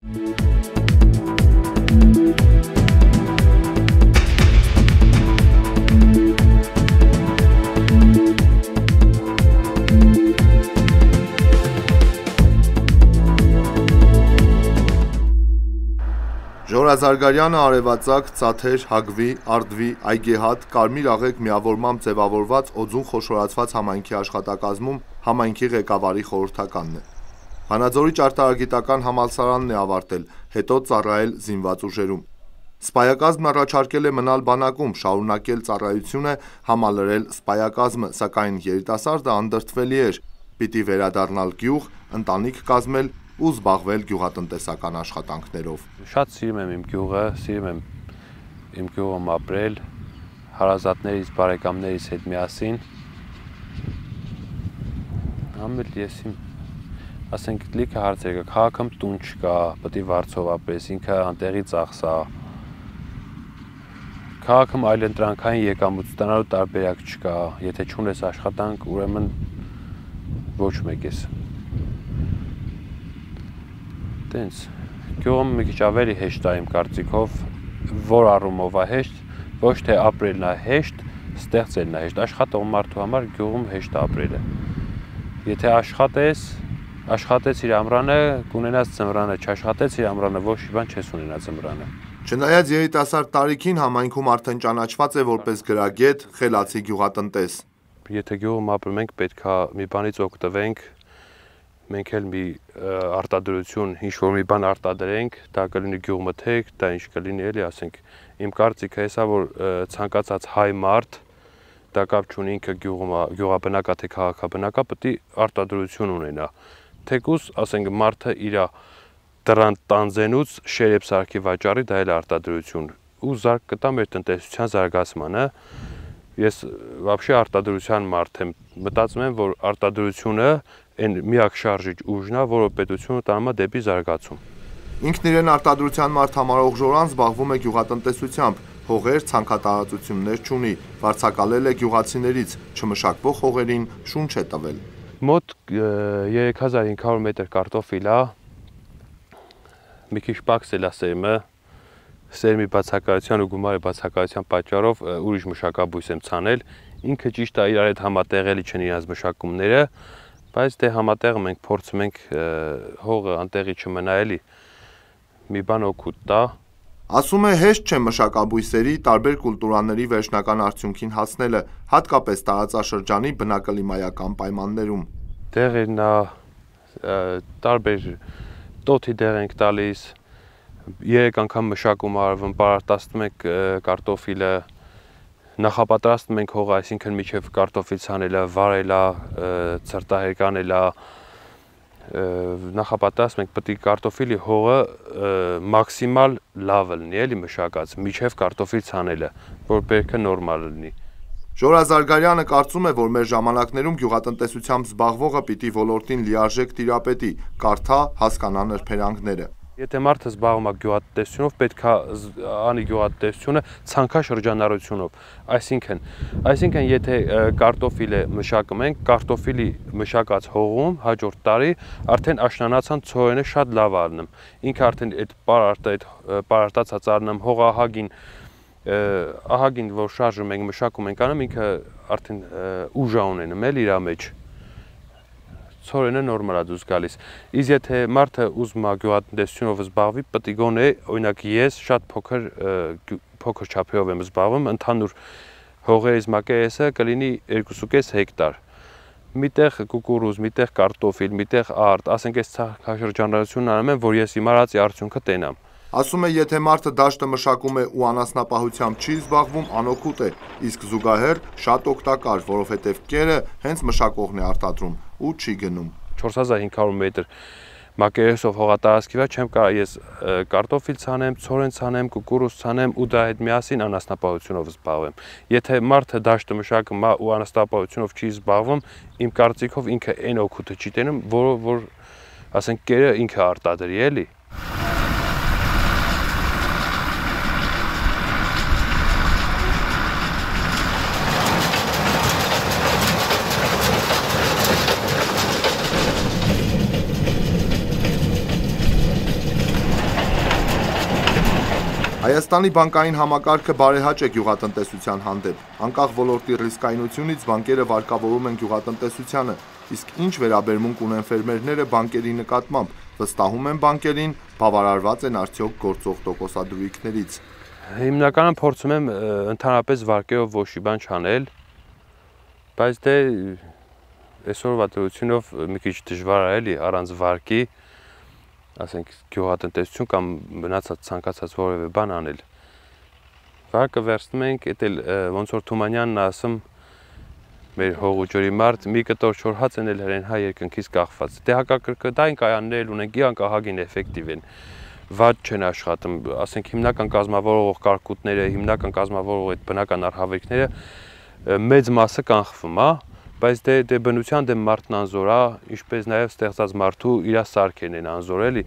Ժորազարգարյանը արևածագ, Ծաթեր, Հագվի, Արդվի, Այգեհատ, Կարմիր աղեկ միավորմամբ ձևավորված օձուն խոշորացված համայնքի աշխատակազմում համայնքի ղեկավարի խորհրդականն է։ Վանաձորի ճարտարագիտական համալսարանն է ավարտել, հետո ծառայել զինված ուժերում։ Սպայակազմն առաջարկել է մնալ բանակում, շարունակել ծառայությունը, համալրել սպայակազմը, սակայն երիտասարդը անդրդվելի էր, պիտի վերադառնալ գյուղ, ընտանիք կազմել ու զբաղվել գյուղատնտեսական աշխատանքներով։ Շատ սիրում եմ իմ գյուղը, սիրում եմ իմ գյուղում ապրել, հարազատներից, բարեկամներիս հետ միասին։ Ամեն ես իմ, ասենք, լիքը հարցեր կա, քաղաքում տուն չկա, պետք է վարձով ապրես, ինքը անտեղի ծախս է։ Քաղաքում այլընտրանքային եկամուտ ստանալու տարբերակ չկա, եթե չունես աշխատանք, ուրեմն ոչ մեկ ես։ Տենց, գյուղում մի քիչ ավելի հեշտ է իմ կարծիքով, որ առումով է հեշտ, ոչ թե ապրելն է հեշտ, ստեղծելն է հեշտ, աշխատող մարդու համար գյուղում հեշտ է ապրելը։ Եթե աշխատես իր ամռանը, կունենաս ձմռանը, չաշխատես իր ամռանը, ոչ մի բան չես ունենա ձմռանը։ Չնայած երիտասարդ տարիքին համայնքում արդեն ճանաչված է որպես գրագետ, խելացի գյուղատնտես։ Եթե գյուղում ապրում ենք, պետք է մի բանից օգտվենք, մենք էլ մի արտադրություն, ինչ-որ մի բան արտադրենք, դա կլինի գյուղմթերք, դա ինչ կլինի էլի, ասենք, իմ կարծիքը հեսա, որ ցանկացած հայ մարդ, դա կապ չունի ինքը գյուղաբնակ է, թե քաղաքաբնակ է, պետք է արտադրություն ունենա։ Թեկուզ, ասենք, մարդը իր դռան տանձենուց շերեփ սարքի վաճառի, դա էլ արտադրություն, ու զարգ կտա մեր տնտեսության զարգացմանը։ Ես вообще արտադրության մարդ եմ, մտածում եմ, որ արտադրությունը այն միակ շարժիչ ուժն է, որը պետությունը տանում է դեպի զարգացում։ Ինքն իրեն արտադրության մարդ համարող Ժորան զբաղվում է գյուղատնտեսությամբ, հողեր, ցանքատարածություններ չունի, վարձակալել է գյուղացիներից, չմշակվող հողերին շունչ է տվել։ Մոտ 3500 մետր կարտոֆիլ է, մի քիչ պակսել է սերմի բացակայության ու գումարի բացակայության պատճառով ուրիշ մշակաբույս եմ ցանել, ինքը ճիշտ է իրար հետ համատեղելի չեն իրենց մշակումները, բայց դե համատեղում ենք, փորձում ենք հողը անտեղի չմնա էլի, մի բան օգուտ տա։ Ասում է հեշտ չէ մշակաբույսերի տարբեր կուլտուրաների վերջնական արդյունքին հասնելը, հատկապես տարածաշրջանի բնակլիմայական պայմաններում։ Դեղերն տարբեր տոթի դեղ ենք տալիս, 3 անգամ մշակում արվում, պարարտացնում ենք կարտոֆիլը, նախապատրաստում ենք հողը, այսինքն միջև կարտոֆիլ ցանելը, վարելը, ցրտահերկանելը, նախապատրաստում ենք պետք է կարտոֆիլի հողը մաքսիմալ լավ լինի, էլի մշակած, միջև կարտոֆիլ ցանելը, որ բերքը նորմալ լինի։ Ժորազարգարյանը կարծում է, որ մեր ժամանակներում գյուղատնտեսությամբ զբաղվողը պիտի ոլորտին լիարժեք տիրապետի, կարդա, հասկանա նրբերանգները։ Եթե մարդը զբաղվում է գյուղատնտեսությունով, պետք է անի գյուղատնտեսությունը ցանքաշրջանառությունով, այսինքն եթե կարտոֆիլը մշակում ենք, կարտոֆիլի մշակած հողում հաջորդ տարի արդեն աշնանացան ցորենը շատ լավ առնում, ինքը արդեն այդ պարարտացած առնում ահագին, որ շարժում ենք, մշակում ենք անում, ինքը արդեն ուժ ունենում էլ իր մեջ, ցորենը նորմալ է դուրս գալիս։ Իսկ եթե մարդը ուզում է գյուղատնտեսությունով զբաղվի, պետք է գոնե, օրինակ ես շատ փոքր չափերով եմ զբաղվում, ընդհանուր հողերից մակերեսը կլինի 2.5 հեկտար։ Միտեղ կուկուրուզ, միտեղ կարտոֆիլ, միտեղ արդ, ասենք այս ցանքաշրջանառությունն անում եմ, որ ես իմ արած արդյունքը տենամ։ Ասում է, եթե մարդը դաշտը մշակում է ու անասնապահությամբ չի զբաղվում, անօգուտ է, իսկ զուգահեռ շատ օգտակար, որովհետև կերը հենց մշակողն է արտադրում ու չի գնում։ 4500 մետր մակերեսով հողատարածքի վրա չեմ կարող ես կարտոֆիլ ցանեմ, ցորեն ցանեմ, կուկուրուզ ցանեմ ու դա հետ միասին անասնապահությունով զբաղվեմ։ Եթե մարդը դաշտը մշակում է ու անասնապահությունով չի զբաղվում, իմ կարծիքով ինքը այն օգուտը չի տենում, որ ասենք կերը ինքը արտադրի էլի։ Հայաստանի բանկային համակարգը բարեհաճ է գյուղատնտեսության հանդեպ։ Անկախ ոլորտի ռիսկայնությունից բանկերը վարկավորում են գյուղատնտեսությանը, իսկ ինչ վերաբերմունք ունեն ֆերմերները բանկերի նկատմամբ, վստահում են բանկերին, բավարարված են արդյոք գործող տոկոսադրույքներից։ Հիմնականում փորձում եմ ընդհանրապես վարկերով ոչ մի բան չանել, բայց դե այսօրվա դրությունով մի քիչ դժվար է էլի առանց վարկի, ասենք գյուղատնտեսություն կամ մնացած ցանկացած որևէ բան անել։ Վարկը վերցնում ենք, էդ էլ ոնց որ Թումանյանն ասում, մեր հողուջորի մարդ մի կտոր չոր հաց են էլ հրեն հայ երկնքից կախված։ Դե հակակրկտային կայաններ ունենք, իրանք ահագին էֆեկտիվ են, վատ չեն աշխատում, ասենք հիմնական կազմավորող կարկուտները, հիմնական կազմավորող այդ բնական արհավիրքները մեծ մասը կանխվում է, բայց դե բնության դեմ մարդն անզոր է, ինչպես նաև ստեղծած մարդու իր սարքերն են անզոր էլի,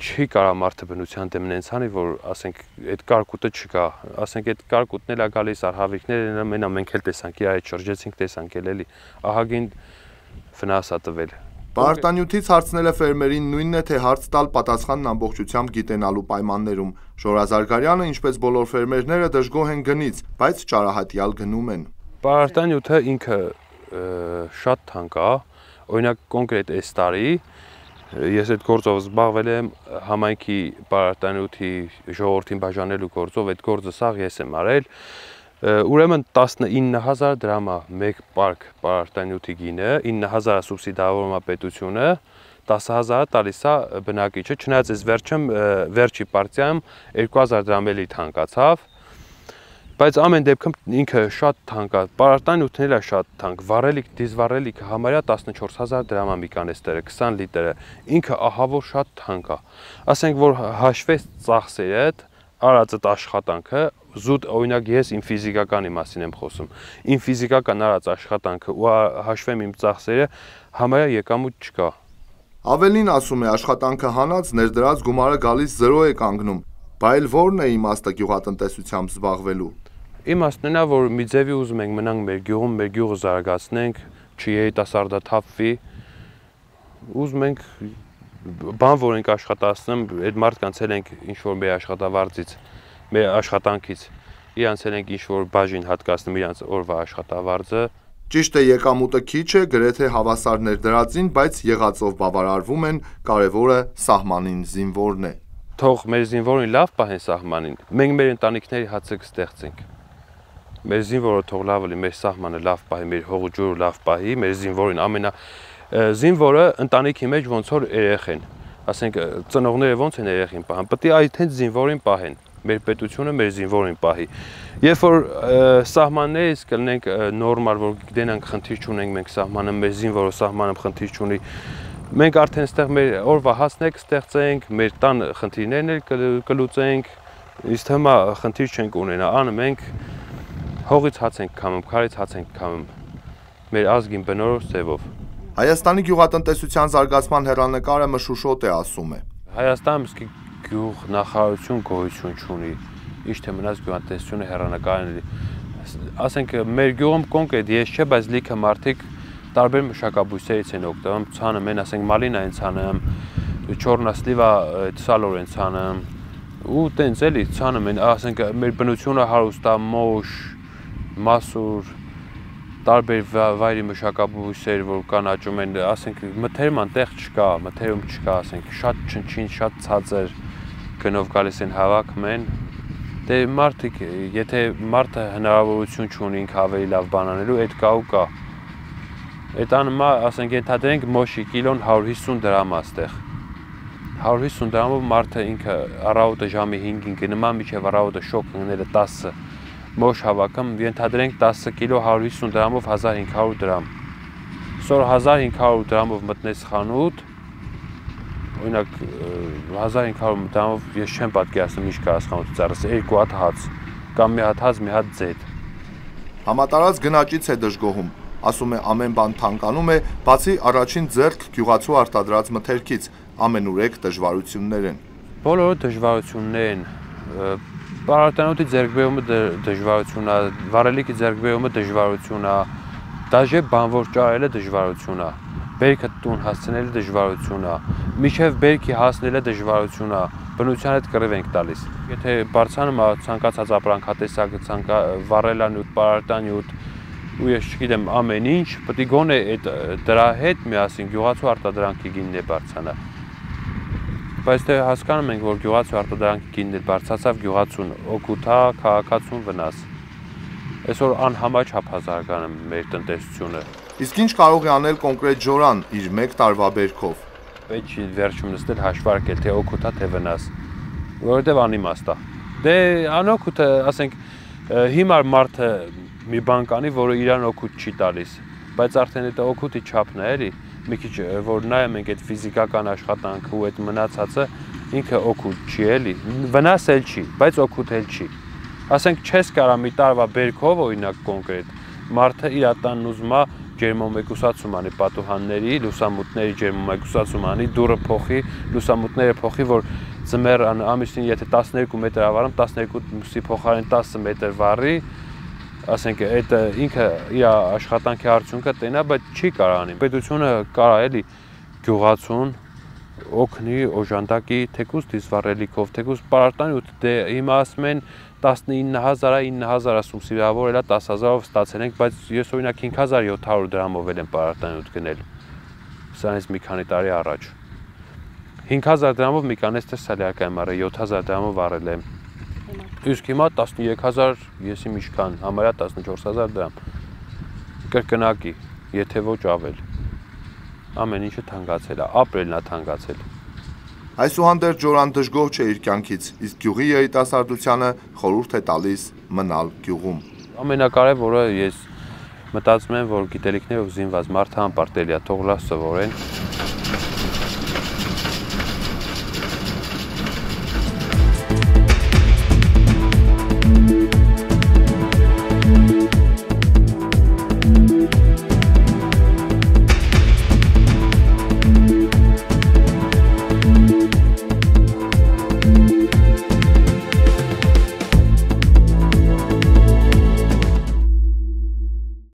չի կարա մարդը բնության դեմ նենց անի, որ ասենք այդ կարկուտը չկա, ասենք այդ կարկուտն էլ է գալիս, արհավիրքները մենա մենք էլ տեսանք, իր այդ շրջեցինք տեսանք էլի, ահագին վնաս է տվել։ Պարարտանյութից հարցնել է ֆերմերին նույնն է, թե հարց տալ պատասխանն ամբողջությամբ գիտենալու պայմաններում։ Ժորա Զարգարյանը, ինչպես բոլոր ֆերմերները, դժգոհ են գնից, բայց ճարահատյալ գնում են։ Պարարտանյութը ինքը շատ թանկ է, օրինակ կոնկրետ այս տարի ես այդ գործով զբաղվել եմ համայնքի պարարտանյութի ժողովրդին բաժանելու գործով, այդ գործը սաղ ես եմ արել, ուրեմն 19,000 դրամ է մեկ պարկ պարարտանյութի գինը, 9,000 սուբսիդավորում է պետությունը, 10,000 տալիս է բնակիչը, չնայած այս վերջի պարտիայում 2,000 դրամ էլի թանկացավ, բայց ամեն դեպքում ինքը շատ թանկ է, պարարտանյութն էլ է շատ թանկ, վառելիք, դիզվառելիքը համարյա 14,000 դրամ է մի կանեստերը, 20 լիտրը, ինքը ահավոր շատ թանկ է, ասենք որ հաշվես ծախսերդ, արածդ աշխատանքը, զուտ օրինակ ես իմ ֆիզիկականի մասին եմ խոսում, իմ ֆիզիկական արած աշխատանքը ու հաշվեմ իմ ծախսերը, համարյա եկամուտ չկա։ Ավելին ասում է, աշխատանքը հանած ներդրած գումարը գալիս 0 է կանգնում, բայց որն է իմաստը գյուղատնտեսությամբ զբաղվելու։ Իմաստն նա, որ մի ձևի ուզում ենք մնանք մեր գյուղում, մեր գյուղը զարգացնենք, չերիտասարդաթափվի, ուզում ենք բան, որ ենք աշխատացնում, այդ մարդկանց էլ ենք ինչ-որ մեր աշխատավարձից, մեր աշխատանքից, իրանց էլ ենք ինչ-որ բաժին հատկացնում իրանց օրվա աշխատավարձը։ Ճիշտ է, եկամուտը քիչ է, գրեթե հավասար ներդրածին, բայց եղածով բավարարվում են, կարևորը սահմանին զինվորն է։ Թող մեր զինվորին լավ պահեն սահմանին, մենք մեր ընտանիքների հացը կստեղծենք։ Մեր զինվորը թող լավ լինի, մեր սահմանը լավ պահի, մեր հողուջուրը լավ պահի, մեր զինվորին զինվորը ընտանիքի մեջ ոնց որ երեխեն, ասենք ծնողները ոնց են երեխին պահան, պետք է այդ հենց զինվորին պահեն, մեր պետությունը մեր զինվորին պահի։ Երբ որ սահմաններից կլինենք նորմալ, որ գիտենանք խնդիր չունենք, մենք սահմանը, մեր զինվորը սահմանը խնդիր չունի, մենք արդեն ստեղ մեր օրվա հասնենք ստեղծենք, մեր տան խնդիրներն էլ կլուծենք, իսկ հիմա խնդիր չենք ունենա, անը մենք հողից հաց ենք քամում, քարից հաց ենք քամում, մեր ազգին բնորոշ ձևով։ Հայաստանի գյուղատնտեսության զարգացման հեռանկարը մշուշոտ է, ասում է։ Հայաստանում իսկի գյուղ նախարարություն գոյություն չունի, ինչ թե մնաց գյուղատնտեսությունը հեռանկարն է։ Ասենք մեր գյուղում կոնկրետ ես չէ, բայց լիքը մարդիկ տարբեր մշակաբույսերից են օգտվում, ցանում են, ասենք մալինա են ցանում, չորնասլիվա սալոր են ցանում, ու տենց էլի ցանում են, ասենք մեր բնությունը հարուստ է, մոշ, մասուր, տարբեր վայրի մշակաբույսեր, որ կան աճում են, ասենք մթերում անտեղ չկա, մթերում չկա, ասենք շատ չնչին, շատ ցածր գնով գալիս են հավաքում են, դե մարդիկ, եթե մարդը հնարավորություն չունի ինքը ավելի լավ բան անելու, այդ կա ու կա։ Այդ անմա, ասենք ենթադրենք մոշի կիլոն 150 դրամ է ստեղ։ 150 դրամով մարդը ինքը առավոտը ժամի 5-ին գնում է, մինչև առավոտը շոկ ընկնելը 10 մոշ հավաքում, ենթադրենք 10 կիլո 150 դրամով 1500 դրամ։ Սոր 1500 դրամով մտնես խանութ, օրինակ 1500 դրամով ես չեմ պատկերացնում ինչ կարաս խանութից առս, 2 հատ հաց, կամ մի հատ հաց, մի հատ ձետ։ Համատարած գնաճից է դժգոհում, ասում է ամեն բան թանկանում է, բացի առաջին ձեռք գյուղացու արտադրած մթերքից, ամենուրեք դժվարություններ են։ Բոլորը դժվարություններ են, պարարտանյութի ձեռքբերումը դժվարություն է, վառելիքի ձեռքբերումը դժվարություն է, դաժե բանվոր ճարելը դժվարություն է, բերքը տուն հասցնելը դժվարություն է, մինչև բերքի հասնելը դժվարություն է, բնության հետ կռիվ ենք տալիս։ Եթե բարձրանում է ցանկացած ապրանքատեսակ, վառելանյութ, պարարտանյութ, ու ես չգիտեմ ամեն ինչ, պետք է գոնե դրա հետ միասին գյուղացու արտադրանքի գինն է բարձրանա։ Բայց դե հասկանում ենք, որ գյուղացու արտադրանքի գինն բարձրացավ, գյուղացուն օգուտ է, քաղաքացուն վնաս։ Այսօր անհամաչ հափազարգանում մեր տնտեսությունը։ Իսկ ինչ կարող է անել կոնկրետ Ջորան իր 1 տարվա բերքով։ Պետք չի վերջում նստել հաշվարկել, թե օգուտ է, թե վնաս, որովհետև անիմաստ է։ Դե անօգուտ է, ասենք, հիմար մարդը մի բան կանի, որը իրան օգուտ չի տալիս, բայց արդեն այդ օգուտի չափն է, էլի, մի քիչ որ նայում ենք այդ ֆիզիկական աշխատանքը ու այդ մնացածը, ինքը օգուտ չի, էլի, վնաս էլ չի, բայց օգուտ էլ չի։ Ասենք չես կարա մի տարվա բերքով, օրինակ կոնկրետ, մարդը իր տանն ուզում է ջերմամեկուսացում անի պատուհանների, լուսամուտների ջերմամեկուսացում անի, դուռը փոխի, լուսամուտները փոխի, որ ձմեռ ամիսին եթե 12 մետր ավարում, 12-ի փոխարեն 10 մետր վառի, ասենք այդ ինքը իր աշխատանքի արդյունքը տենա, բայց չի կարա անի։ Պետությունը կարա էլի գյուղացուն օգնի, օժանդակի, թեկուզ դիզվառելիքով, թեկուզ պարարտանյութ, դե հիմա ասում են 19,000 ասում սիրավորելա 10,000-ով ստացել ենք, բայց ես օրինակ 5,700 դրամով եմ պարարտանյութ գնել։ Սրանից մի քանի տարի առաջ։ 5,000 դրամով մի կանես տեսալյակ եմ արել, 7,000 դրամով արել եմ։ Իսկ հիմա 13,000, եսի միշքան, համարյա 14,000 դրամ։ Կրկնակի, եթե ոչ ավել։ Ամեն ինչը թանկացել է, ապրելն է թանկացել։ Այսուհանդերձ Ջորան դժգոհ չէ իր կյանքից, իսկ գյուղի երիտասարդությանը խորհուրդ է տալիս մնալ գյուղում։ Ամենակարևորը ես մտածում եմ, որ գիտելիքներով զինված մարդը անպարտելի է, թող լավ սովորեն։